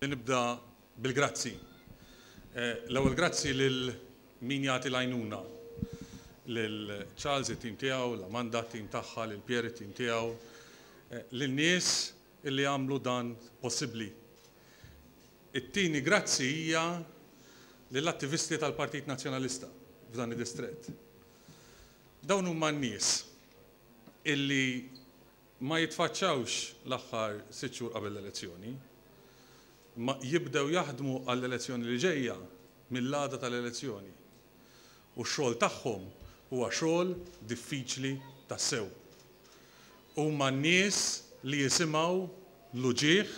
Nibda bil-grazzi. L-ewwel grazzi lil min jagħti l-għajnuna. Lil Charles it-tim tiegħu, l-Amanda t-tim tagħha, lil Pierre it-tim tiegħu, lin-nies illi għamlu dan possibbli. It-tieni grazzi hija lill-attivisti tal-Partit Nazzjonalista f'dan id-distrett. Dawn huma n-nies illi ma jitfaċċawx l-aħħar sitt xhur qabel l-elezzjoni, imma jibdew jaħdmu għall-elezzjoni li ġejja mill-għada tal-elezzjoni. U x-xogħol tagħhom huwa xogħol diffiċli tassew. Huma n-nies li jisimgħu l-uġigħ,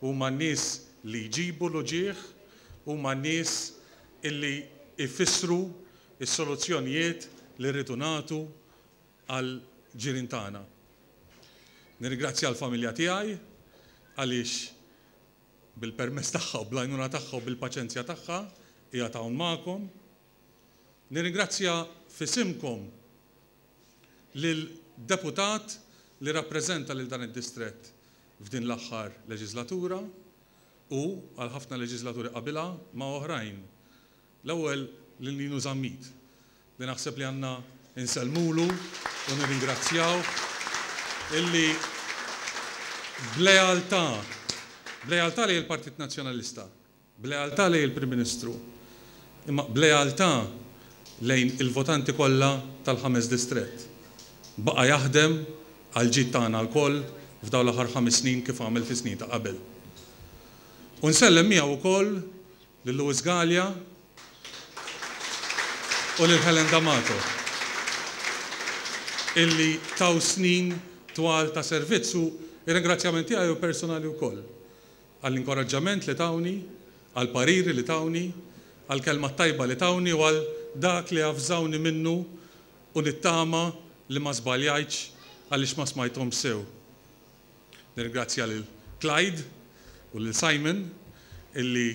huma n-nies li jġibu l-uġigħ, huma n-nies illi jfissru s-soluzzjonijiet li rridu nagħtu għall-ġirien tagħna. Nirringrazzja l-familja tiegħi għaliex bil-permess tagħha u bl-għajnuna tagħha u bil-paċenzja tagħha qiegħed hawn magħkom. Nirringrazzja f'isimkom lil deputat li rappreżenta lil dan id-distrett f'din l-aħħar leġislatura u għal ħafna leġislaturi qabilha ma' oħrajn. L-ewwel lil Ninu Zammit li naħseb li għandna nsellmulu u nirringrazzjawh illi b'lealtà, b'lealtà lejn il-Partit Nazzjonalista, b'lealtà lejn il-Prim Ministru, imma b'lealtà lejn il-votanti kollha tal-ħames distrett, baqa' jaħdem għall-ġid tagħna lkoll f'dawn l-aħħar ħames snin kif għamel fis-snin ta' qabel. U nsellem miegħu wkoll lil Louis Galea u lil Helen D'Amato illi taw snin twal ta' servizz u r-ringrazzjament tiegħi hu personali wkoll għall-inkoraġġament li tawni, għall-pariri li tawni, għall-kelma t-tajba li tawni u għal dak li avżawni minnu u nittama li ma żbaljajtx għaliex ma smajthomx sew. Nirringrazzja lil Clyde u lil Simon illi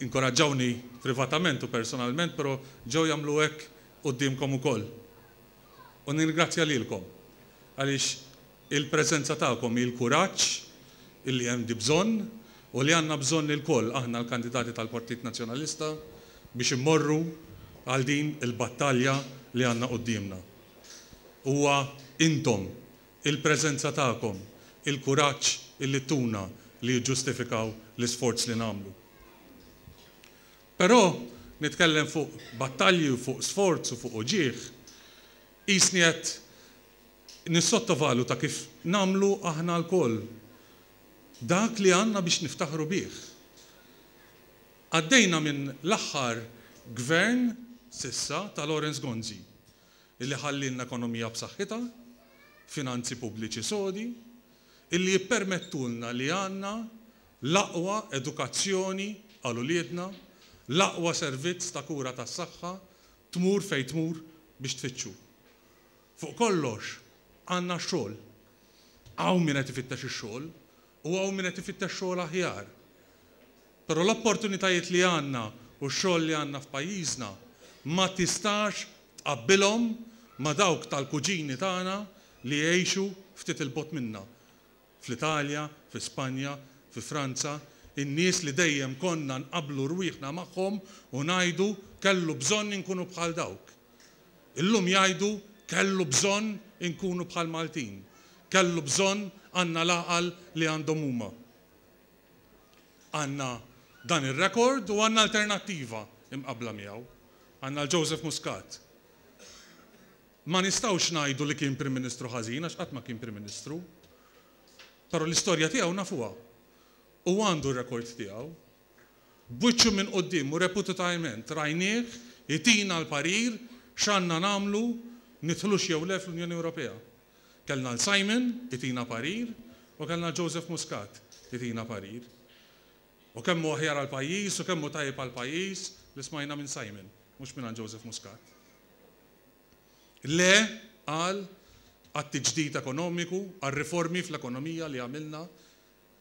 inkoraġġawni privatament u personalment però ġew jagħmlu hekk quddiemkom ukoll. U nirringrazzja lilkom għaliex il-preżenza tagħkom hi l-kuraġġ illi hemm di bżonn u li għandna bżonn ilkoll aħna l-kandidati tal-Partit Nazzjonalista biex immorru għal din il-battalja li għandna quddiemna. Huwa intom il-preżenza tagħkom, il-kuraġġ illi ttuna li jiġġustifikaw l-isforz li nagħmlu. Però nitkellem fuq battalji u fuq sforz u fuq uġigħ, qisni qed nissottovaluta kif nagħmlu aħna lkoll dak li għandna biex niftaħru bih. Għaddejna minn l-aħħar gvern s'issa ta' Lawrence Gonzi. illi ħallielna ekonomija b'saħħitha, finanzi pubbliċi sodi, illi jippermettulna li għandna l-aqwa edukazzjoni għal uliedna, l-aqwa servizz ta' kura tas-saħħa, tmur fejn tmur biex tfittxu. Fuq kollox, għandna x-xogħol. Hawn min qed ifittex ix-xogħol u hawn min qed ifittex xogħol aħjar. Però l-opportunitajiet li għandna u x-xogħol li għandna f'pajjiżna ma tistax tqabbilhom ma' dawk tal-kuġini tagħna li jgħixu ftit 'il bogħod minna, fl-Italja, fi Spanja, fi Franza, in-nies li dejjem konna nqabblu rwieħna magħhom u ngħidu kellu bżonn inkunu bħal dawk. Illum jgħidu kellu bżonn inkunu bħall-Maltin, kellu bżonn għandna l-għaqal li għandhom huma. Għandna dan ir-rekord u għandna alternattiva imqabbla miegħu. Għandna l-Joseph Muscat. Ma nistgħux ngħidu li kien Prim Ministru ħażin għax qatt ma kien Prim Ministru. Però l-istorja tiegħu nafuha. U għandu r-rekord tiegħu. B'wiċċu minn quddiem u repututaement rajnieh itina l-parir x'għandna nagħmlu nidħlux jew le fl-Unjoni Ewropea. Kellna 'l Simon itina parir u kellna 'l Joseph Muscat itina parir. U kemm hu aħjar għall-pajjiż u kemm hu tajjeb għall-pajjiż li smajna minn Simon, mhux mingħand Joseph Muscat. Le, qal, għat-tiġdid ekonomiku, għar-riformi fl-ekonomija li għamilna,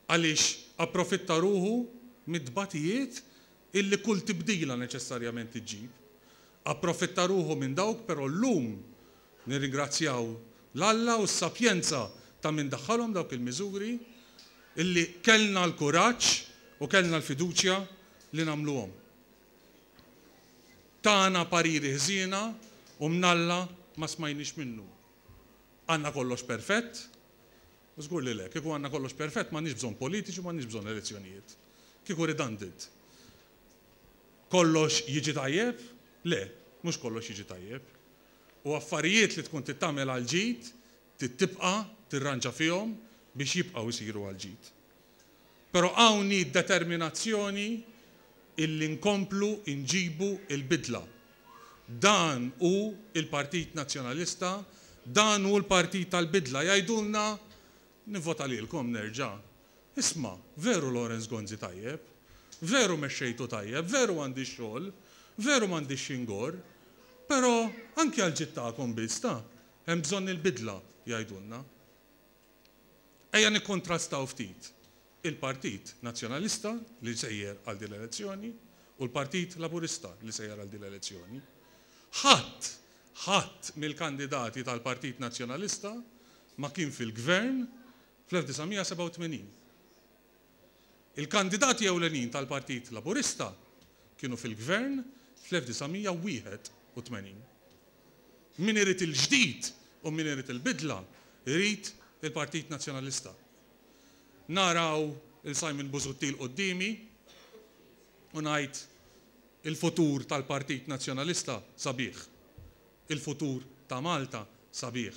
għaliex approfitta ruħu mit-tbatijiet illi kull tibdila neċessarjament iġġib. Approfitta ruħu minn dawk però llum nirringrazzjaw 'l Alla u s-sapjenza ta' min daħħalhom dawk il-miżuri illi kellna l-kuraġġ U kellna l-fiduċja li nagħmluhom. Tana pariri ħżiena u mnalla ma smajniex minnu. Għandna kollox perfett? Żgur li le. Kieku għandna kollox perfett m'għandniex bżonn politiċi u m'għandniex bżonn elezzjonijiet. Kieku redundant. Kollox jiġi tajjeb? Le, mhux kollox jiġi tajjeb. U affarijiet li tkun trid tagħmel għall-ġid, trid tibqa' tirranġa fihom biex jibqgħu jsiru għall-ġid. Però hawn hi d-determinazzjoni illi nkomplu nġibu l-bidla. Dan hu l-Partit Nazzjonalista, dan hu l-partit tal-bidla. Jgħidulna, nivvota lilkom nerġa'. Isma', veru Lawrence Gonzi tajjeb, veru mexxejtu tajjeb, veru għandi x-xogħol, veru m'għandix xi ngorr, però anki għall-ġid tagħkom biss ta, hemm bżonn il-bidla, jgħidulna. Ejja nikkontrastaw ftit il-Partit Nazzjonalista li sejjer għal din l-elezzjoni u l-Partit Laburista li sejjer għal din l-elezzjoni. Ħadd, ħadd mill-kandidati tal-Partit Nazzjonalista ma kien fil-Gvern fl-1987. Il-kandidati ewlenin tal-Partit Laburista kienu fil-Gvern fl-1981. Min irid il-ġdid u min irid il-bidla jrid il-Partit Nazzjonalista. Naraw 'il Simon Busuttil quddiemi u ngħid il-futur tal-Partit Nazzjonalista sabiħ. Il-futur ta' Malta sabiħ.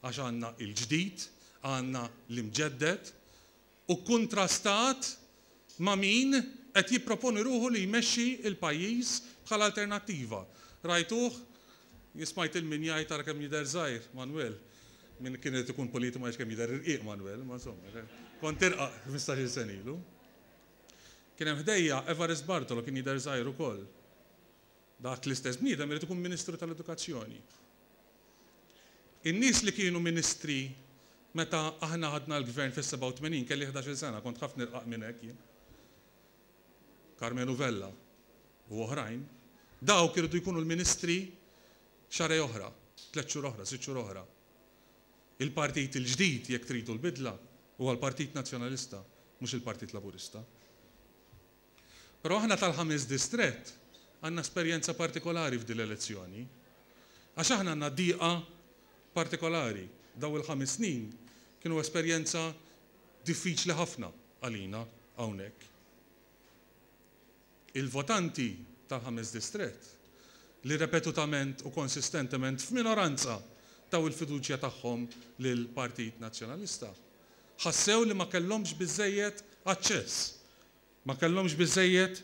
Għax għandna il-ġdid, għandna l-imġedded u kkuntrastat ma' min qed jipproponi ruħu li jmexxi l-pajjiż bħala alternattiva. Rajtuh? Jien smajt 'il min jgħid ara kemm jidher żgħir Manwel. Min kien irid ikun politiku ma jgħidx kemm jidher irqiq Manwel, imma insomma, kont irqaq 15-il sena ilu. Kien hemm ħdejja Evarist Bartolo kien jidher żgħir ukoll. Dak l-istess bniedem irid ikun Ministru tal-Edukazzjoni. In-nies li kienu ministri meta aħna ħadna l-gvern fis-87, kelli 11-il sena, kont ħafna irqaq minn hekk jien. Karmenu Vella u oħrajn, dawk iridu jkunu l-ministri xahrejn oħra, tlett xhur oħra, sitt xhur oħra. Il-partit il-ġdid, jekk tridu l-bidla, huwa l-Partit Nazzjonalista, mhux il-Partit Laburista. Però aħna tal-ħames distrett għandna esperjenza partikolari f'din l-elezzjoni. Għax aħna għandna diqa partikolari. Dawn il-ħames snin kienu esperjenza diffiċli ħafna għalina hawnhekk. Il-votanti tal-ħames distrett li repetutament u konsistentement f'minoranza taw il-fiduċja tagħhom lill-Partit Nazzjonalista, ħassew li ma kellhomx biżżejjed aċċess Ma kellhomx biżżejjed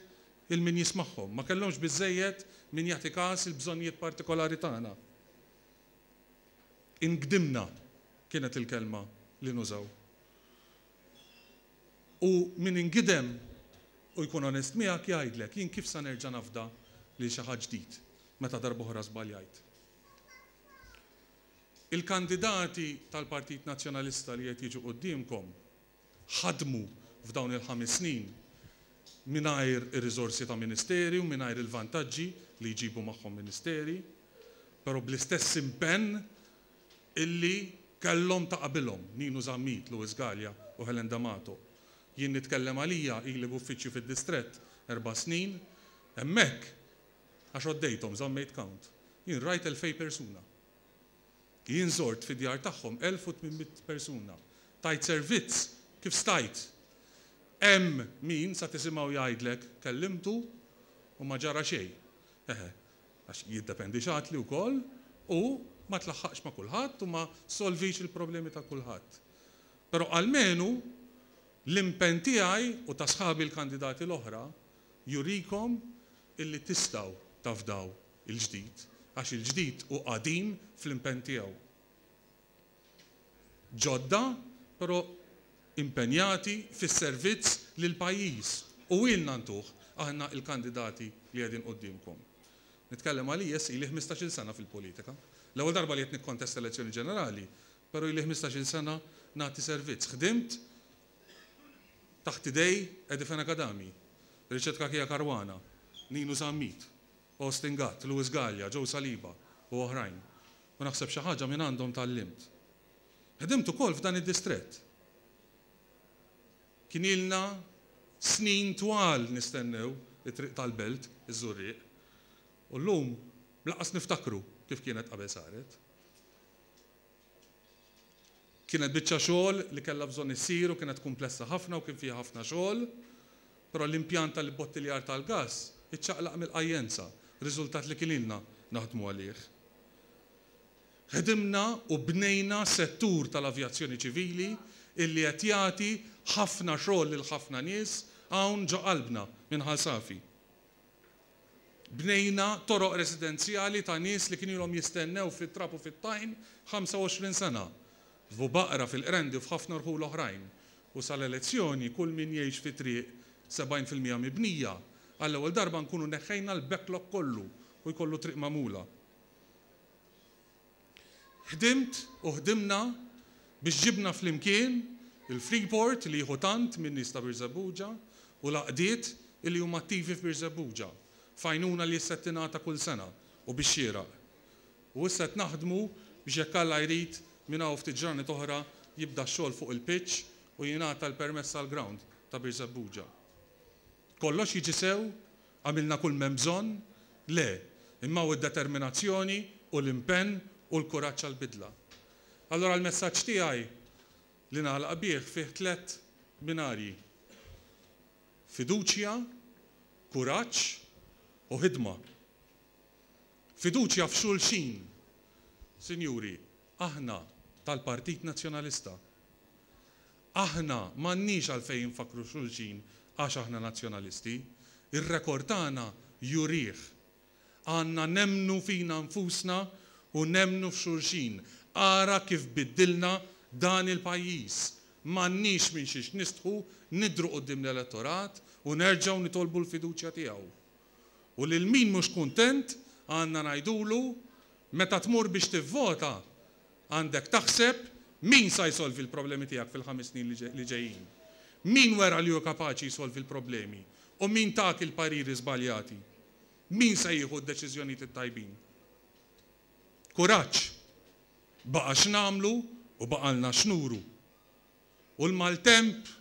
'il min jismagħhom, ma kellhomx biżżejjed min jagħti każ il-bżonnijiet partikolari tagħna. Ingdimna kienet il-kelma li nużaw. U min ingidem u jkun onest miegħek jgħidlek, jien kif sa nerġa' nafda lil xi ħadd ġdid meta darb'oħra żbaljajt. Il-kandidati tal-Partit Nazzjonalista li qed jiġu quddiemkom ħadmu f'dawn il-ħames snin mingħajr ir-riżorsi ta' ministeri u mingħajr il-vantaġġi li jġibu magħhom ministeri, però bl-istess impenn illi kellhom ta' qabilhom, Ninu Zammit, Louis Galea u Helen D'Amato. Jien nitkellem għalija, ili b'uffiċċju fid-distrett erba' snin, hemmhekk, għax għoddejthom, żammejt count, jien rajt 2,000 persuna. Jien żort fid-djar tagħhom 1,800 persuna. Tajt servizz kif stajt. Hemm min sa tisimgħu jgħidlek kellimtu u ma ġara xejn. Eħe, għax jiddependi x'għadtli wkoll u ma tlaħħaqx ma' kulħadd u ma ssolvix il-problemi ta' kulħadd. Però almenu l-impenn tiegħi u ta' sħabi l-kandidati l-oħra jurikom illi tistgħu tafdaw il-ġdid, għax il-ġdid hu qadim fl-impenn tiegħu. Ġodda, però impenjati fis-servizz lill-pajjiż u ilna ntuh aħna l-kandidati li qegħdin quddiemkom. Nitkellem għalija issa ili ħmistax-il sena fil-politika. L-ewwel darba li qed nikkontesta elezzjoni ġenerali, però ili ħmistax-il sena nagħti servizz. Ħdimt taħt idej Eddie Fenech Adami, Richard Cachia Caruana, Ninu Zammit, Austin Gatt, Louis Galea, Joe Saliba u oħrajn. U naħseb xi ħaġa mingħandhom tgħallimt. Ħdimt ukoll f'dan id-distrett. Kien ilna Snin twal nistennew it-triq tal-Belt, iż-Żurrieq. U llum lanqas niftakru kif kienet qabel saret. Kienet biċċa xogħol li kellha bżonn issir u kienet kumplessa ħafna u kien fiha ħafna xogħol, però l-impjant tal-ibbottiljar tal-gass iċċaqlaq mill-Qajjenza, riżultat li kien ilna naħdmu għalih. Ħdimna u bnejna settur tal-avjazzjoni ċivili illi qed jagħti ħafna xogħol lil ħafna nies hawn ġo qalbna minn Ħal Safi. Bnejna toroq residenzjali ta' nies li kien ilhom jistennew fit-trab u fit-tajn 25 sena, f'Bubaqra, fil-Qrendi u f'ħafna rħula oħrajn. U sal-elezzjoni kull min jgħix fi triq 70% mibnija, għall-ewwel darba nkunu neħħejna l-backlog kollu u jkollu triq magħmula. Ħdimt u ħdimna biex ġibna flimkien il-Freeport li jieħu tant min-nies ta' Birżebbuġa u l-għaqdiet illi huma attivi f'Birżebbuġa, f'għajnuna li issa qed tingħata kull sena u bix-xieraq. U issa qed naħdmu biex jekk Alla jrid minn hawn ftit ġranet oħra jibda x-xogħol fuq il-pitch u jingħata l-permess għall-ground ta' Birżebbuġa. Kollox jiġi sew? Għamilna kull m'hemm bżonn? Le, imma hawn id-determinazzjoni u l-impenn u l-kuraġġ għall-bidla. Allura l-messaġġ tiegħi li nagħlaq bih fih tlett binarji, fiduċja, kuraġġ u ħidma. Fiduċja f'xulxin. Sinjuri, aħna tal-Partit Nazzjonalista. Aħna m'għandniex għalfejn infakkru xulxin għax aħna Nazzjonalisti. Ir-rekord tagħna jurih. Għandna nemmnu fina nfusna u nemmnu f'xulxin. Ara kif biddilna dan il-pajjiż. M'għandniex minn xiex nistħu nidhru quddiem l-elettorat u nerġgħu nitolbu l-fiduċja tiegħu. U lil min mhux kuntent għandna ngħidulu meta tmur biex tivvota Għandek taħseb min sa jsolvi l-problemi tiegħek fil-ħames snin li ġejjin. Min wera li hu kapaċi jsolvi l-problemi u min tak il-pariri żbaljati. Min se jieħu d-deċiżjonijiet it-tajbin. Kuraġġ! Baqa' x'nagħmlu u baqgħalna x'nuru. U l-maltemp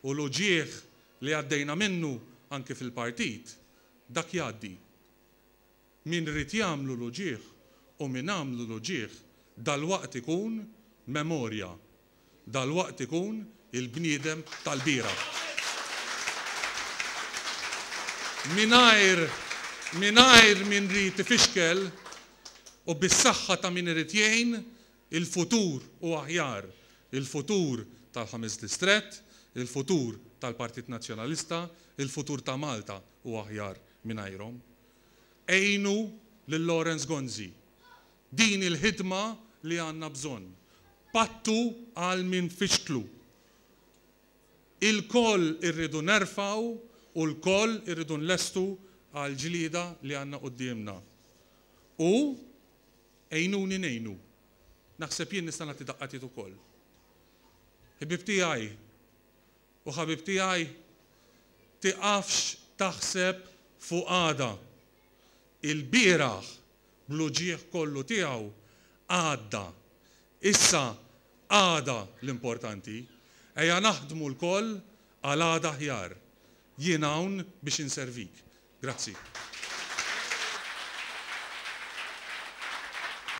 u l-uġigħ li għaddejna minnu anki fil-partit, dak jgħaddi. Min ried jagħmlu l-uġigħ u min għamlu l-uġigħ dalwaqt ikun memorja, dalwaqt ikun il-bniedem tal-bieraħ. Mingħajr mingħajr min ried ifixkel u bis-saħħa ta' min irid jgħin, il-futur hu aħjar, il-futur tal-Ħames Distrett, il-futur tal-Partit Nazzjonalista, il-futur ta' Malta hu aħjar mingħajrhom. Għinu lil Lawrence Gonzi. Din hi l-ħidma li għandna bżonn. Pattu għal min fixklu. Ilkoll irridu nerfgħu u lkoll irridu nlestu għall-ġlieda li għandna quddiemna. U għinuni ngħinu. Naħseb jien nista' nagħti daqqa t'id ukoll. Ħbieb tiegħi, U ħabib tiegħi, tiqafx taħseb fuq għada. Il-bieraħ, bl-uġigħ kollu tiegħu, għadda. Issa għada l-importanti. Ejja naħdmu lkoll għal għada aħjar. Jien hawn biex inservik. Grazzi.